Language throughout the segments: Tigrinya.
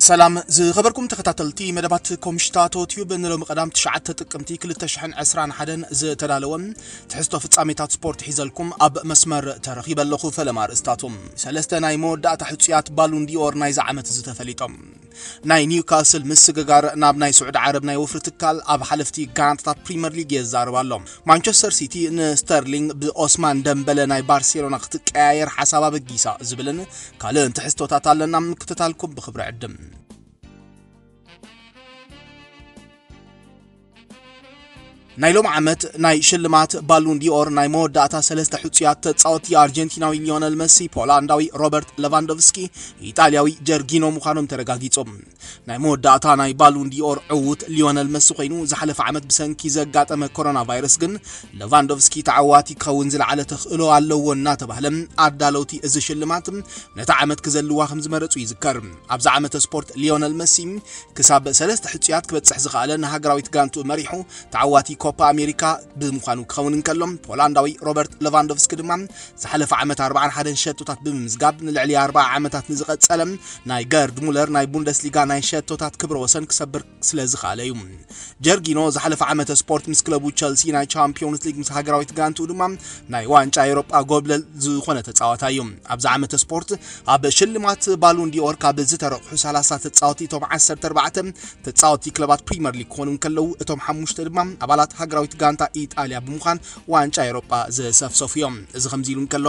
ሰላም ዝኸበርኩም ተኸታተልቲ መደባት ኮምሽታቶ ቲዩብ፣ ንሎሚ ቀዳም ትሽዓተ ጥቅምቲ ክልተ ሽሕን ዕስራን ሓደን ዝተዳለወ ትሕዝቶ ፍጻሜታት ስፖርት ሒዘልኩም ኣብ መስመር ተረኺበ ኣለኹ። ፈለማ ኣርእስታቶም። ሰለስተ ናይ መወዳእታ ሕጹያት ባሉን ዲኦር ናይዚ ዓመት ዝተፈሊጦም። ናይ ኒውካስል ምስግጋር ናብ ናይ ስዑዲ ዓረብ ናይ ወፍሪ ትካል ኣብ ሓለፍቲ ጋንታታት ፕሪምየር ሊግ የዛርብ ኣሎ። ማንቸስተር ሲቲ ንስተርሊንግ ብኦስማን ደምበለ ናይ ባርሴሎና ክትቀያየር ሓሳብ ኣበጊሳ ዝብልን ካልእን ትሕዝቶታት ኣለና። ምክትታልኩም ብኽብሪ ዕድም። ናይ ሎም ዓመት ናይ ሽልማት ባሉን ዲኦር ናይ መወዳእታ ሰለስተ ሕጹያት ተጻወቲ ኣርጀንቲናዊ ሊዮነል መሲ፣ ፖላንዳዊ ሮበርት ሌቫንዶቭስኪ፣ ኢጣልያዊ ጀርጊኖ ምዃኖም ተረጋጊጹ። ናይ መወዳእታ ናይ ባሉን ዲኦር ዕዉት ሊዮነል መሲ ኮይኑ፣ ዝሓለፈ ዓመት ብሰንኪ ዘጋጠመ ኮሮና ቫይረስ ግን ሌቫንዶቭስኪ ተዓዋቲ ክኸውን ዝለዓለ ተኽእሎ ኣለዎ እናተባህለ፣ ኣዳለውቲ እዚ ሽልማት ነቲ ዓመት ክዘልዋ ከም ዝመረጹ ይዝከር። ኣብዚ ዓመተ ስፖርት ሊዮነል መሲ ክሳብ ሰለስተ ሕጹያት ክበጽሕ ዝኸኣለ ንሃገራዊት ጋንቱ መሪሑ ተዓዋቲ ኮፓ ኣሜሪካ ብምዃኑ ክኸውን እንከሎ፣ ፖላንዳዊ ሮበርት ሌቫንዶቭስኪ ድማ ዝሓለፈ ዓመት ኣርባዓን ሓደን ሸቶታት ብምምዝጋብ ንልዕሊ ኣርባዓ ዓመታት ንዝቐጸለ ናይ ገርድ ሙለር ናይ ቡንደስሊጋ ናይ ሸቶታት ክብረ ወሰን ክሰብር ስለ ዝኸኣለ እዩ። ጀርጊኖ ዝሓለፈ ዓመተ ስፖርት ምስ ክለቡ ቸልሲ ናይ ቻምፒዮንስ ሊግ፣ ምስ ሃገራዊት ጋንቱ ድማ ናይ ዋንጫ ኤውሮጳ ጎብለል ዝኾነ ተጻዋታይ እዩ። ኣብዚ ዓመተ ስፖርት ኣብ ሽልማት ባሉን ዲኦር ካብ ዝተረቑሑ ሰላሳ ተጻወቲ እቶም ዓሰርተ ኣርባዕተ ተጻወቲ ክለባት ፕሪምየር ሊግ ክኾኑ እንከለዉ፣ እቶም ሓሙሽተ ድማ ኣባላት ሃገራዊት ጋንታ ኢጣልያ ብምዃን ዋንጫ ኤውሮጳ ዘሰፍሰፉ እዮም። እዚ ከምዚ ኢሉ እንከሎ፣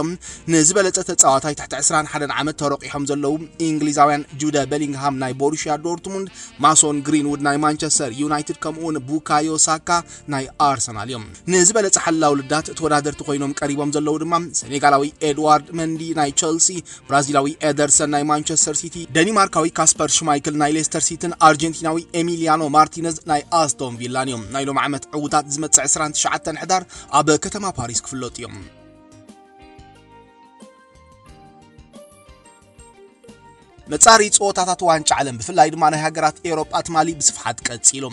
ንዝበለጸ ተጻዋታይ ትሕቲ ዕስራን ሓደን ዓመት ተረቂሖም ዘለዉ እንግሊዛውያን ጁደ ቤሊንግሃም ናይ ቦሩሽያ ዶርትሙንድ፣ ማሶን ግሪንውድ ናይ ማንቸስተር ዩናይትድ፣ ከምኡውን ቡካዮ ሳካ ናይ ኣርሰናል እዮም። ንዝበለጸ ሓላው ልዳት ተወዳደርቲ ኮይኖም ቀሪቦም ዘለዉ ድማ ሰኔጋላዊ ኤድዋርድ መንዲ ናይ ቸልሲ፣ ብራዚላዊ ኤደርሰን ናይ ማንቸስተር ሲቲ፣ ደኒማርካዊ ካስፐር ሽማይክል ናይ ሌስተር ሲቲን ኣርጀንቲናዊ ኤሚሊያኖ ማርቲነዝ ናይ ኣስቶን ቪላን እዮም። ናይ ሎም ዓመት ዕዉታት ዝመጽእ ዕስራን ትሽዓተን ሕዳር ኣብ ከተማ ፓሪስ ክፍለጡ እዮም። መጻሪ ጸወታታት ዋንጫ ዓለም፣ ብፍላይ ድማ ናይ ሃገራት ኤውሮጳ ትማሊ ብስፍሓት ቀጺሉ።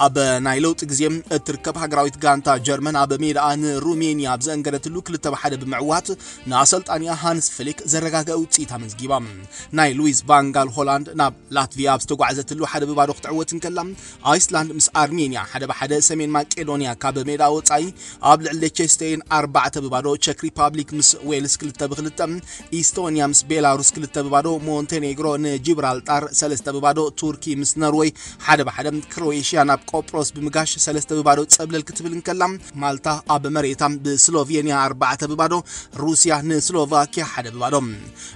ኣብ ናይ ለውጢ ግዜ እትርከብ ሃገራዊት ጋንታ ጀርመን ኣብ ሜዳኣ ንሩሜንያ ኣብ ዘእንገደትሉ ክልተ ብሓደ ብምዕዋት ንኣሰልጣኒኣ ሃንስ ፍሊክ ዘረጋግአ ውጽኢት ኣመዝጊባ። ናይ ሉዊስ ቫንጋል ሆላንድ ናብ ላትቪያ ኣብ ዝተጓዕዘትሉ ሓደ ብባዶ ክትዕወት እንከላ፣ ኣይስላንድ ምስ ኣርሜንያ ሓደ ብሓደ፣ ሰሜን ማቄዶንያ ካብ ሜዳ ወጻኢ ኣብ ልዕሊ ሌቸስቴይን ኣርባዕተ ብባዶ፣ ቸክ ሪፓብሊክ ምስ ዌልስ ክልተ ብክልተ፣ ኢስቶንያ ምስ ቤላሩስ ክልተ ብባዶ፣ ሞንቴኔግሮ ንጂብራልጣር ሰለስተ ብባዶ፣ ቱርኪ ምስ ኖርወይ ሓደ ብሓደ፣ ክሮኤሽያ ናብ ቆጵሮስ ብምጋሽ ሰለስተ ብባዶ ጸብለል ክትብል እንከላ፣ ማልታ ኣብ መሬታ ብስሎቬንያ ኣርባዕተ ብባዶ፣ ሩስያ ንስሎቫኪያ ሓደ ብባዶ።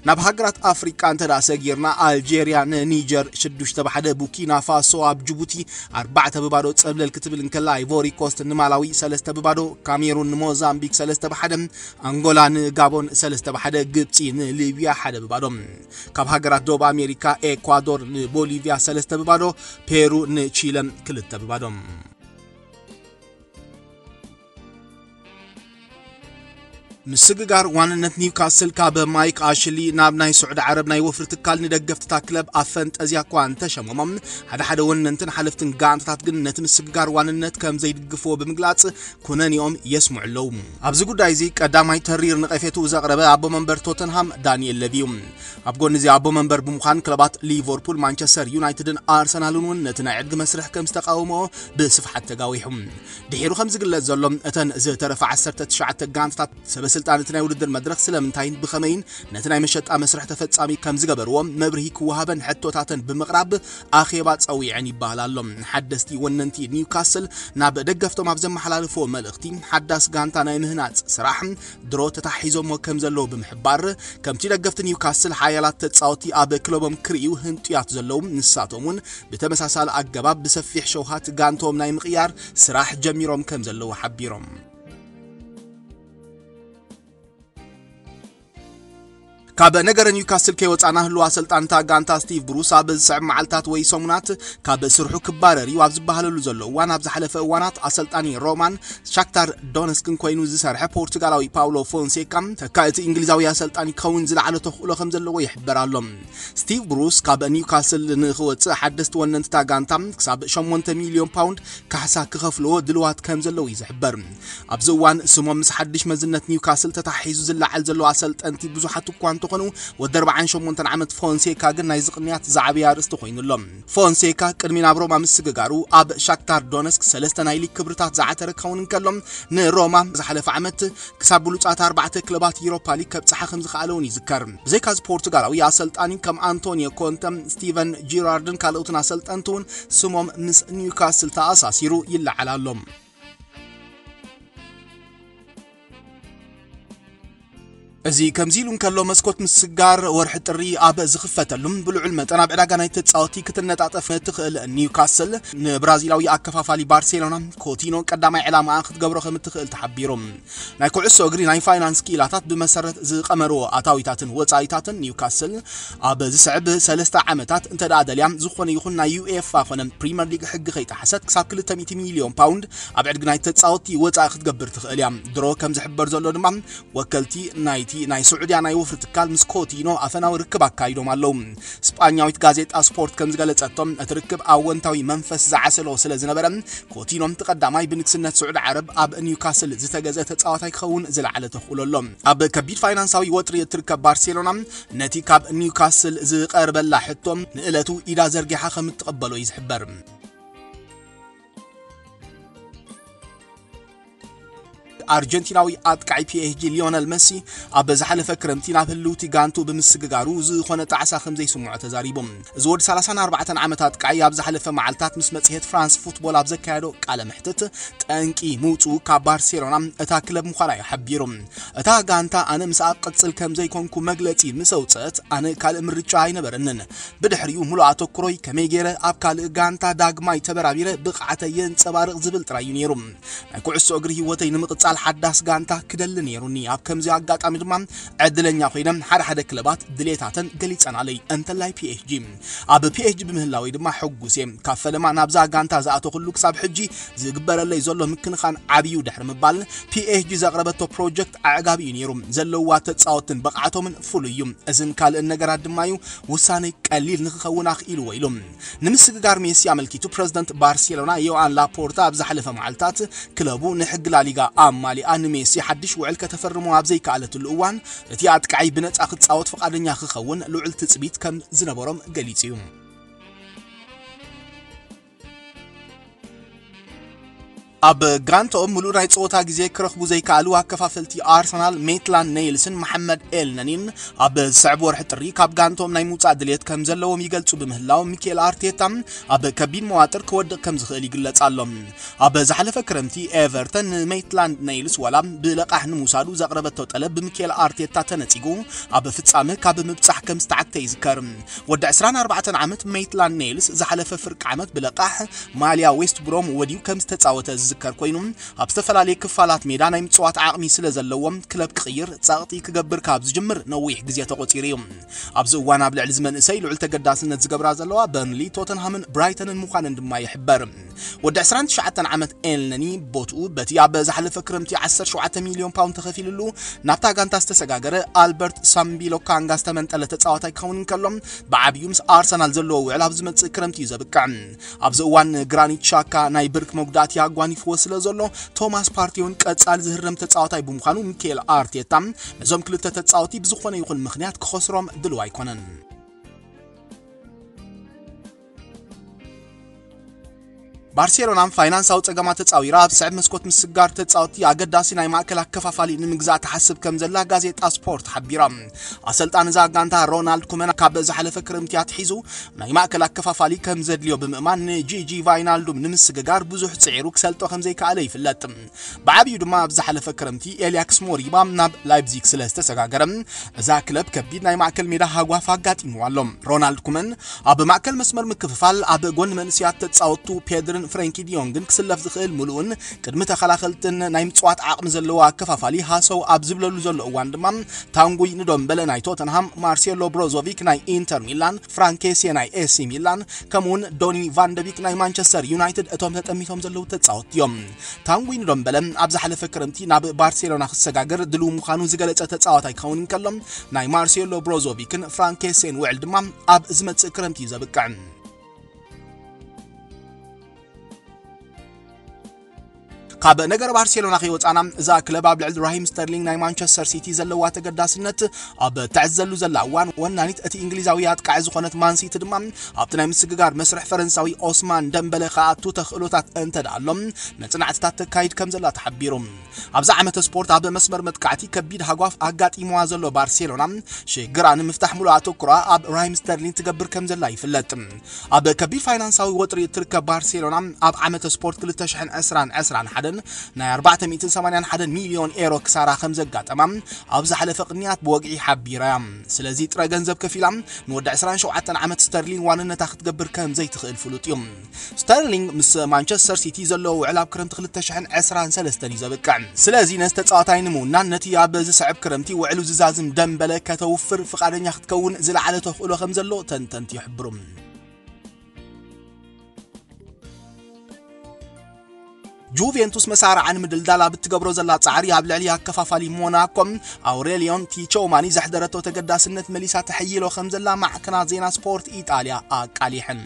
ናብ ሃገራት ኣፍሪቃ እንተ ደኣ ሰጊርና፣ ኣልጄርያ ንኒጀር ሽዱሽተ ብሓደ፣ ቡርኪና ፋሶ ኣብ ጅቡቲ ኣርባዕተ ብባዶ ጸብለል ክትብል እንከላ፣ ኣይቮሪ ኮስት ንማላዊ ሰለስተ ብባዶ፣ ካሜሩን ንሞዛምቢክ ሰለስተ ብሓደ፣ ኣንጎላ ንጋቦን ሰለስተ ብሓደ፣ ግብጺ ንሊብያ ሓደ ብባዶ። ካብ ሃገራት ደቡብ ኣሜሪካ፣ ኤኳዶር ንቦሊቪያ ሰለስተ ብባዶ፣ ፔሩ ንቺለ ክልተ ብባዶ። ምስግጋር ዋንነት ኒውካስል ካብ ማይክ ኣሽሊ ናብ ናይ ስዑዲ ዓረብ ናይ ወፍሪ ትካል ንደገፍቲ እታ ክለብ ኣብ ፈንጠዝያ እኳ እንተሸመሞም፣ ሓደ ሓደ ወነንትን ሓለፍትን ጋንታታት ግን ነቲ ምስግጋር ዋንነት ከም ዘይድግፍዎ ብምግላጽ ኩነኔኦም የስምዑ ኣለዉ። ኣብዚ ጉዳይ እዚ ቀዳማይ ተሪር ነቐፌትኡ ዘቕረበ ኣቦ መንበር ቶተንሃም ዳንኤል ለቪ እዩ። ኣብ ጎኒ እዚ ኣቦ መንበር ብምዃን ክለባት ሊቨርፑል፣ ማንቸስተር ዩናይትድን ኣርሰናልን እውን ነቲ ናይ ዕድጊ መስርሕ ከም ዝተቃወምኦ ብስፍሓት ተጋዊሑ። ድሒሩ ከም ዝግለጽ ዘሎ፣ እተን ዝተረፋ ዓሰርተ ትሽዓተ ጋንታታት ሰበ ስልጣን እቲ ናይ ውድድር መድረኽ ስለምንታይን ብኸመይን ነቲ ናይ መሸጣ መስርሕ ተፈጻሚ ከም ዝገበርዎ መብርሂ ክወሃበን ሕቶታተን ብምቕራብ ኣኼባ ጸዊዐን ይበሃል ኣሎ። ሓደስቲ ወነንቲ ኒውካስል ናብ ደገፍቶም ኣብ ዘመሓላልፍዎ መልእኽቲ፣ ሓዳስ ጋንታ ናይ ምህናጽ ስራሕ ድሮ ተታሒዞሞ ከም ዘለዉ ብምሕባር፣ ከምቲ ደገፍቲ ኒውካስል ሓያላት ተጻወቲ ኣብ ክለቦም ክርእዩ ህንጡያት ዘለዉ፣ ንሳቶም እውን ብተመሳሳሊ ኣገባብ ብሰፊሕ ሸውሃት ጋንቶም ናይ ምቕያር ስራሕ ጀሚሮም ከም ዘለዉ ሓቢሮም። ካብ ነገረ ኒውካስል ከይወጻና፣ ህልዋ ኣሰልጣንታ ጋንታ ስቲቭ ብሩስ ኣብ ዝስዕብ መዓልታት ወይ ሰሙናት ካብ ስርሑ ክባረር እዩ ኣብ ዝበሃለሉ ዘሎ እዋን፣ ኣብ ዝሓለፈ እዋናት ኣሰልጣኒ ሮማን ሻክታር ዶነስክን ኮይኑ ዝሰርሐ ፖርቱጋላዊ ፓውሎ ፎንሴካ፣ ተካኢ እቲ እንግሊዛዊ ኣሰልጣኒ ክኸውን ዝለዓለ ተኽእሎ ከም ዘለዎ ይሕበር ኣሎ። ስቲቭ ብሩስ ካብ ኒውካስል ንኽወጽእ ሓደስቲ ወነንትታ ጋንታ ክሳብ ሸሞንተ ሚልዮን ፓውንድ ካሕሳ ክኸፍልዎ ድልዋት ከም ዘለዉ እዩ ዝሕበር። ኣብዚ እዋን ስሞም ምስ ሓድሽ መዝነት ኒውካስል ተታሒዙ ዝለዓል ዘሎ ኣሰልጠንቲ ብዙሓት እኳ እንተ ዝኾኑ ወዲ ኣርባዓን ሸሞንተን ዓመት ፎንሴካ ግን ናይዚ ቅንያት ዝዓበየ ኣርእስቲ ኮይኑ ኣሎ። ፎንሴካ ቅድሚ ናብ ሮማ ምስግጋሩ ኣብ ሻክታር ዶነስክ ሰለስተ ናይ ሊግ ክብርታት ዝዓተረ ክኸውን እንከሎ፣ ንሮማ ዝሓለፈ ዓመት ክሳብ ብሉጻት ኣርባዕተ ክለባት ዩሮፓ ሊግ ከብጽሓ ከም ዝኸኣለ እውን ይዝከር። ብዘይካ እዚ ፖርቱጋላዊ ኣሰልጣኒ ከም ኣንቶኒዮ ኮንተ፣ ስቲቨን ጂራርድን ካልኦትን ኣሰልጠንቲ እውን ስሞም ምስ ኒውካስል ተኣሳሲሩ ይለዓል ኣሎ። እዚ ከምዚ ኢሉ እንከሎ፣ መስኮት ምስጋር ወርሒ ጥሪ ኣብ ዝኽፈተሉ፣ ብልዑል መጠን ኣብ ዕዳጋ ናይ ተጻወቲ ክትነጣጠፍ ትኽእል ኒውካስል ንብራዚላዊ ኣከፋፋሊ ባርሴሎና ኮቲኖ ቀዳማይ ዕላማኣ ክትገብሮ ከም እትኽእል ተሓቢሩ። ናይ ኩዕሶ እግሪ ናይ ፋይናንስ ክኢላታት ብመሰረት ዝቐመርዎ ኣታዊታትን ወጻኢታትን ኒውካስል ኣብ ዝስዕብ ሰለስተ ዓመታት እንተ ደኣ ደልያ ዝኾነ ይኹን ናይ ዩኤፋ ኮነ ፕሪምየር ሊግ ሕጊ ከይጠሓሰት ክሳብ ክልተ ሚእቲ ሚልዮን ፓውንድ ኣብ ዕድጊ ናይ ተጻወቲ ወጻኢ ክትገብር ትኽእል እያ። ድሮ ከም ዝሕበር ዘሎ ድማ ወከልቲ ናይቲ ናይ ስዑድያ ናይ ወፍሪ ትካል ምስ ኮቲኖ ኣፈናዊ ርክብ ኣካይዶም ኣለዉ። ስጳኛዊት ጋዜጣ ስፖርት ከም ዝገለጸቶ እቲ ርክብ ኣወንታዊ መንፈስ ዝዓሰሎ ስለ ዝነበረ ኮቲኖ እቲ ቀዳማይ ብንግስነት ስዑዲ ዓረብ ኣብ ኒውካስል ዝተገዘ ተጻዋታይ ክኸውን ዝለዓለ ተኽእሎ ኣሎ። ኣብ ከቢድ ፋይናንሳዊ ወጥሪ እትርከብ ባርሴሎና ነቲ ካብ ኒውካስል ዝቐርበላ ሕቶ ንእለቱ ኢዳ ዘርጊሓ ከም እትቕበሎ እዩ ዝሕበር። ኣርጀንቲናዊ ኣጥቃዒ ፒኤስጂ ሊዮነል መሲ ኣብ ዝሓለፈ ክረምቲ ናብ ህልውቲ ጋንቱ ብምስግጋሩ ዝኾነ ጣዕሳ ከም ዘይስምዖ ተዛሪቡ። እዚ ወዲ ሰላሳን ኣርባዕተን ዓመት ኣጥቃዒ ኣብ ዝሓለፈ መዓልታት ምስ መጽሔት ፍራንስ ፉትቦል ኣብ ዘካየዶ ቃለ መሕትት ጠንቂ ምውጽኡ ካብ ባርሴሎና እታ ክለብ ምዃና እዩ ሓቢሩ። እታ ጋንታ ኣነ ምስኣ ክቕጽል ከም ዘይኮንኩ መግለጺ ምስ ኣውጽአት ኣነ ካልእ ምርጫ ኣይነበረንን። ብድሕሪኡ ምሉእ ኣተኩሮይ ከመይ ገይረ ኣብ ካልእ ጋንታ ዳግማይ ተበራቢረ ብቕዓተይ የንጸባርቕ ዝብል ጥራይ እዩ ነይሩ። ናይ ኩዕሶ እግሪ ህይወተይ ንምቕጻል ሓዳስ ጋንታ ክደሊ ነይሩኒ። ኣብ ከምዚ ኣጋጣሚ ድማ ዕድለኛ ኮይነ ሓደ ሓደ ክለባት ድሌታተን ገሊጸናለይ፣ እንተላይ ፒኤስጂ። ኣብ ፒኤስጂ ብምህላወይ ድማ ሕጉስ እየ። ካብ ፈለማ ናብዛ ጋንታ ዝኣተኹሉ ክሳብ ሕጂ ዝግበረለይ ዘሎ ምክንኻን ዓብዩ ድሕሪ ምባል ፒኤስጂ ዘቕረበቶ ፕሮጀክት ኣዕጋቢ እዩ ነይሩ። ዘለዋ ተጻወትን ብቕዓቶምን ፍሉይ እዩ። እዝን ካልእን ነገራት ድማ እዩ ውሳነይ ቀሊል ንክኸውን ኣኽኢልዎ ኢሉ። ንምስግጋር ሜሲ ኣመልኪቱ ፕረዚደንት ባርሴሎና ዮኣን ላፖርታ ኣብ ዝሓለፈ መዓልታት ክለቡ ንሕጊ ላሊጋ ኣማሊኣ ንሜሲ ሓድሽ ውዕል ከተፈርሞ ኣብ ዘይከኣለትሉ እዋን እቲ ኣጥቃዒ ብነጻ ክጻወት ፍቓደኛ ክኸውን ልዑል ትጽቢት ከም ዝነበሮም ገሊጹ እዩ። ኣብ ጋንትኦም ምሉእ ናይ ጸወታ ግዜ ክረኽቡ ዘይከኣሉ ኣከፋፈልቲ ኣርሰናል ሜትላንድ ኔይልስን መሓመድ ኤልነኒን ኣብ ዝስዕብ ወርሒ ጥሪ ካብ ጋንትኦም ናይ ምውጻእ ድሌት ከም ዘለዎም ይገልጹ ብምህላው፣ ሚኬል ኣርቴታ ኣብ ከቢድ መዋጥር ክወድቕ ከም ዝኽእል ይግለጽ ኣሎ። ኣብ ዝሓለፈ ክረምቲ ኤቨርተን ንሜትላንድ ኔይልስ ዋላ ብለቃሕ ንምውሳዱ ዘቕረበቶ ጠለብ ብሚኬል ኣርቴታ ተነጺጉ፣ ኣብ ፍጻመ ካብ ምብጻሕ ከም ዝተዓግተ ይዝከር። ወዲ ዕስራን ኣርባዕተን ዓመት ሜትላንድ ኔይልስ ዝሓለፈ ፍርቂ ዓመት ብለቃሕ ማልያ ዌስት ብሮም ወድዩ ከም ዝተጻወተ ዝዝከር ኮይኑ፣ ኣብ ዝተፈላለየ ክፋላት ሜዳ ናይ ምጽዋት ዓቕሚ ስለ ዘለዎም ክለብ ክቕይር ጸቕጢ ክገብር ካብ ዝጅምር ነዊሕ ግዜ ተቖጺሩ እዩ። ኣብዚ እዋን ኣብ ልዕሊ እዚ መንእሰይ ልዑል ተገዳስነት ዝገብራ ዘለዋ በርንሊ፣ ቶተንሃምን ብራይተንን ምዃነን ድማ ይሕበር። ወዲ ዕስራን ትሽዓተን ዓመት ኤልነኒ ቦትኡ በቲ ኣብ ዝሓለፈ ክረምቲ ዓሰርተ ሸውዓተ ሚልዮን ፓውንድ ተኸፊልሉ ናብታ ጋንታ ዝተሰጋገረ ኣልበርት ሳምቢሎ ካንጋ ዝተመንጠለ ተጻዋታይ ክኸውን እንከሎ፣ ብዓብዩ ምስ ኣርሰናል ዘለዎ ውዕል ኣብ ዝመጽእ ክረምቲ እዩ ዘብቅዕ። ኣብዚ እዋን ንግራኒት ሻካ ናይ ብርክ መጉዳእቲ ኣጓኒፍዎ ስለ ዘሎ፣ ቶማስ ፓርቴ እውን ቀጻሊ ዝህረም ተጻዋታይ ብምዃኑ፣ ሚኬል ኣርቴታ ነዞም ክልተ ተጻወቲ ብዝኾነ ይኹን ምኽንያት ክኸስሮም ድልው ኣይኮነን። ባርሴሎና ፋይናንሳዊ ጸገማት ተጻዊራ ኣብ ስዕብ መስኮት ምስጋር ተጻወቲ ኣገዳሲ ናይ ማእከል ኣከፋፋሊ ንምግዛእ ትሓስብ ከም ዘላ ጋዜጣ ስፖርት ሓቢራ። ኣሰልጣኒ እዛ ጋንታ ሮናልድ ኩመን ካብ ዝሓለፈ ክረምቲ ኣትሒዙ ናይ ማእከል ኣከፋፋሊ ከም ዘድልዮ ብምእማን ንጂጂ ቫይናልዱም ንምስግጋር ብዙሕ ጽዒሩ ክሰልጦ ከም ዘይከኣለ ይፍለጥ። ብዓብዩ ድማ ኣብ ዝሓለፈ ክረምቲ ኤልያክስ ሞሪባ ናብ ላይፕዚግ ስለ ዝተሰጋገረ እዛ ክለብ ከቢድ ናይ ማእከል ሜዳ ሃጓፍ ኣጋጢምዋ ኣሎ። ሮናልድ ኩመን ኣብ ማእከል መስመር ምክፍፋል ኣብ ጎኒ መንእሰያት ተጻወቱ ፔድርን ፍሬንኪ ዲዮንግን ክስለፍ ዝኽእል ምሉእን ቅድሚ ተኸላኸልትን ናይ ምጽዋት ዓቕሚ ዘለዎ ኣከፋፋሊ ሃሰው ኣብ ዝብለሉ ዘሎ እዋን ድማ ታንጉይ ንዶምበለ ናይ ቶተንሃም፣ ማርሴሎ ብሮዞቪክ ናይ ኢንተር ሚላን፣ ፍራንኬሴ ናይ ኤሲ ሚላን ከምኡውን ዶኒ ቫንደቢክ ናይ ማንቸስተር ዩናይትድ እቶም ተጠሚቶም ዘለዉ ተጻወትቲ እዮም። ታንጉይ ንዶምበለ ኣብ ዝሓለፈ ክረምቲ ናብ ባርሴሎና ክሰጋገር ድልው ምዃኑ ዝገለጸ ተጻዋታይ ክኸውን እንከሎ ናይ ማርሴሎ ብሮዞቪክን ፍራንኬሴን ውዕል ድማ ኣብ ዝመጽእ ክረምቲ እዩ ዘብቅዕ። ካብ ነገር ባርሴሎና ከይወፃና፣ እዛ ክለብ ኣብ ልዕሊ ራሂም ስተርሊንግ ናይ ማንቸስተር ሲቲ ዘለዋ ተገዳስነት ኣብ ትዕዘሉ ዘላ እዋን፣ ወናኒት እቲ እንግሊዛዊ ኣጥቃዒ ዝኾነት ማንሲቲ ድማ ኣብቲ ናይ ምስግጋር መስርሕ ፈረንሳዊ ኦስማን ደምበለ ክኣቱ ተኽእሎታት እንተደኣ ኣሎ፣ መጽናዕትታት ተካይድ ከም ዘላ ተሓቢሩ። ኣብዚ ዓመተ ስፖርት ኣብ መስመር መጥቃዕቲ ከቢድ ሃጓፍ ኣጋጢምዋ ዘሎ ባርሴሎና፣ ሽግራ ንምፍታሕ ሙሉእ ኣተኩራ ኣብ ራሂም ስተርሊንግ ትገብር ከም ዘላ ይፍለጥ። ኣብ ከቢድ ፋይናንሳዊ ወጥሪ እትርከብ ባርሴሎና፣ ኣብ ዓመተ ስፖርት ክልተ ሽሕን ዕስራን ዕስራን ሓደን ናይ ኣርባዕተ ሚእትን ሰማንያን ሓደን ሚልዮን ኤሮ ክሳራ ከም ዘጋጠማ ኣብ ዝሓለፈ ቅንያት ብወግዒ ሓቢራ እያ። ስለዚ ጥረ ገንዘብ ከፊላ ንወዲ ዕስራን ሸውዓተን ዓመት ስተርሊንግ ዋንነታ ክትገብር ከም ዘይትኽእል ፍሉጥ እዩ። ስተርሊንግ ምስ ማንቸስተር ሲቲ ዘለዎ ውዕል ኣብ ክረምቲ ክልተ ሽሕን ዕስራን ሰለስተን እዩ ዘብቅዕ። ስለዚ ነዚ ተጻዋታይ ንምውናን ነቲ ኣብ ዝስዕብ ክረምቲ ውዕሉ ዝዛዝም ደምበለ ከተውፍር ፍቓደኛ ክትከውን ዝለዓለ ተኽእሎ ከም ዘሎ ተንተንቲ ይሕብሩ። ጁቬንቱስ መሳርዓ ንምድልዳል ኣብ እትገብሮ ዘላ ጻዕሪ ኣብ ልዕሊ ኣከፋፋሊ ሞናኮ ኣውሬሊዮን ቲቾማኒ ዘሕደረቶ ተገዳስነት መሊሳ ተሐይሎ ከም ዘላ ማዕከናት ዜና ስፖርት ኢጣልያ ኣቃሊሐን።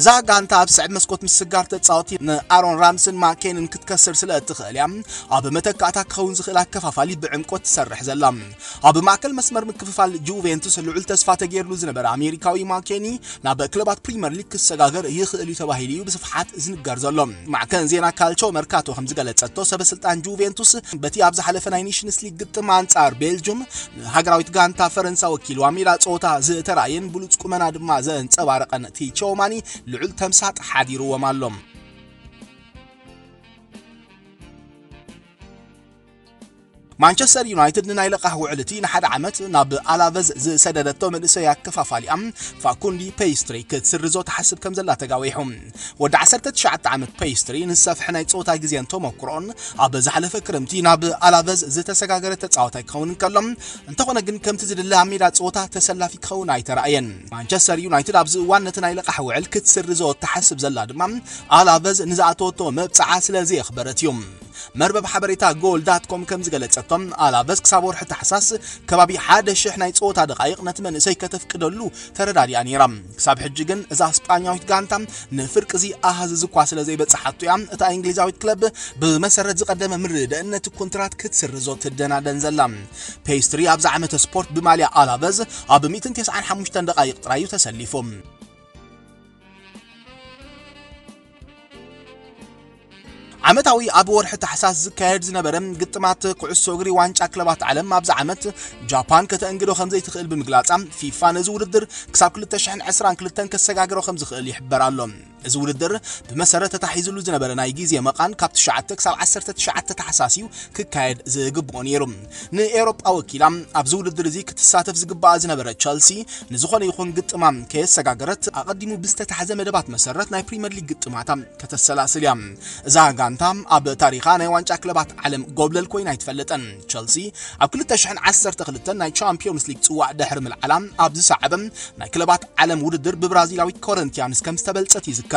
እዛ ጋንታ ኣብ ስዕብ መስኮት ምስጋር ተጻወቲ ንኣሮን ራምስን ማኬንን ክትከስር ስለ እትኽእል እያ ኣብ መተካእታ ክኸውን ዝኽእል ኣከፋፋሊ ብዕምቆት ትሰርሕ ዘላ። ኣብ ማእከል መስመር ምክፍፋል ጁቬንቱስ ልዑል ተስፋ ተገይርሉ ዝነበረ ኣሜሪካዊ ማኬኒ ናብ ክለባት ፕሪምየር ሊግ ክሰጋገር ይኽእል እዩ ተባሂሉ እዩ ብስፍሓት ዝንገር ዘሎ። ማዕከን ዜና ካልቾ መርካቶ ከም ዝገለጸቶ፣ ሰበስልጣን ጁቬንቱስ በቲ ኣብ ዝሓለፈ ናይ ኔሽንስ ሊግ ግጥም ኣንጻር ቤልጁም ንሃገራዊት ጋንታ ፈረንሳ ወኪሉ ኣብ ሜዳ ጸወታ ዝተራእየን ብሉጽ ቁመና ድማ ዘንጸባረቐን ቲቾማኒ ልዑል ተምሳጥ ሓዲርዎም ኣሎ። ማንቸስተር ዩናይትድ ንናይ ለቓሕ ውዕል እቲ ንሓደ ዓመት ናብ ኣላቨዝ ዝሰደደቶ መንእሰይ ኣከፋፋሊኣ ፋኩንዲ ፔስትሪ ክትስርዞ ትሓስብ ከም ዘላ ተጋዊሑ። ወዲ ዓሰርተ ትሽዓተ ዓመት ፔስትሪ ንዝሰፍሐ ናይ ጾታ ግዜን ተመኩሮን ኣብ ዝሓለፈ ክረምቲ ናብ ኣላቨዝ ዝተሰጋገረ ተጻዋታይ ክኸውን እንከሎ፣ እንተኾነ ግን ከምቲ ዝድለ ኣብ ሜዳ ጾታ ተሰላፊ ክኸውን ኣይተራእየን። ማንቸስተር ዩናይትድ ኣብዚ እዋን ነቲ ናይ ለቓሕ ውዕል ክትስርዞ እትሓስብ ዘላ ድማ ኣላቨዝ ንዝኣተወቶ መብጽዓ ስለ ዘየኽበረት እዩ። መርበብ ሓበሬታ ጎል ዳት ኮም ከም ዝገለጸቶ፣ ኣላቨዝ ክሳብ ወርሒ ታሕሳስ ከባቢ ሓደ ሽሕ ናይ ጸወታ ደቓይቕ ነቲ መንእሰይ ከተፍቅደሉ ተረዳዲኣ ነይራ። ክሳብ ሕጂ ግን እዛ ስጳኛዊት ጋንታ ንፍርቂ እዚ ኣሃዝ እዚ እኳ ስለ ዘይበጽሓቶ እያ እታ እንግሊዛዊት ክለብ ብመሰረት ዝቐደመ ምርድእነት ኮንትራት ክትስርዞ ትደናደን ዘላ። ፔስትሪ ኣብዚ ዓመተ ስፖርት ብማልያ ኣላቨዝ ኣብ ሚእትን ተስዓን ሓሙሽተን ደቓይቕ ጥራይ እዩ ተሰሊፉ። ዓመታዊ ኣብ ወርሒ ታሕሳስ ዝካየድ ዝነበረ ግጥማት ኩዕሶ እግሪ ዋንጫ ክለባት ዓለም ኣብዚ ዓመት ጃፓን ከተእንግዶ ከም ዘይትኽእል ብምግላጻ፣ ፊፋ ነዚ ውድድር ክሳብ ክልተ ሽሕን ዕስራን ክልተን ከሰጋግሮ ከም ዝኽእል ይሕበር ኣሎ። እዚ ውድድር ብመሰረት ተታሒዝሉ ዝነበረ ናይ ግዜ መቓን ካብ ትሽዓተ ክሳብ ዓሰርተ ትሽዓተ ታሕሳስ እዩ ክካየድ ዝግብኦ ነይሩ። ንኤውሮጳ ወኪላ ኣብዚ ውድድር እዚ ክትሳተፍ ዝግባኣ ዝነበረ ቸልሲ ንዝኾነ ይኹን ግጥማ ከየሰጋገረት ኣቐዲሙ ብዝተታሕዘ መደባት መሰረት ናይ ፕሪምየር ሊግ ግጥማታ ከተሰላስል እያ። እዛ ጋንታ ኣብ ታሪኻ ናይ ዋንጫ ክለባት ዓለም ጎብለል ኮይና ኣይትፈልጥን። ቸልሲ ኣብ ክልተ ሽሕን ዓሰርተ ክልተን ናይ ቻምፒዮንስ ሊግ ጽዋዕ ድሕሪ ምልዓላ ኣብ ዝሰዓበ ናይ ክለባት ዓለም ውድድር ብብራዚላዊት ኮረንቲያንስ ከም ዝተበልጸት ይዝከር።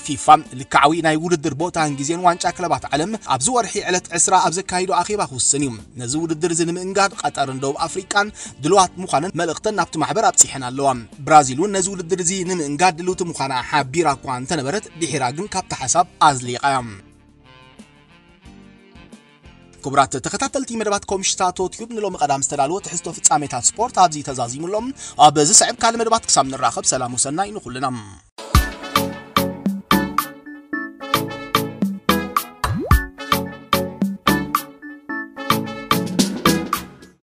ፊፋ ልክዓዊ ናይ ውድድር ቦታን ግዜን ዋንጫ ክለባት ዓለም ኣብዚ ወርሒ ዕለት ዕስራ ኣብ ዘካይዶ ኣኼባ ክውስን እዩ። ነዚ ውድድር እዚ ንምእንጋድ ቀጠርን ደቡብ ኣፍሪቃን ድልዋት ምዃነን መልእኽተን ናብቲ ማሕበር ኣብጺሐን ኣለዋ። ብራዚል እውን ነዚ ውድድር እዚ ንምእንጋድ ድልውቲ ምዃና ሓቢራ እኳ እንተነበረት፣ ድሒራ ግን ካብቲ ሓሳብ ኣዝሊቓ እያ። ክቡራት ተኸታተልቲ መደባት ኮምሽታቶ ቲዩብ፣ ንሎሚ ቀዳም ዝተዳለወ ትሕዝቶ ፍጻሜታት ስፖርት ኣብዚ ተዛዚሙ ኣሎ። ኣብ ዝስዕብ ካልእ መደባት ክሳብ ንራኸብ፣ ሰላም ወሰናይ ንኹልና።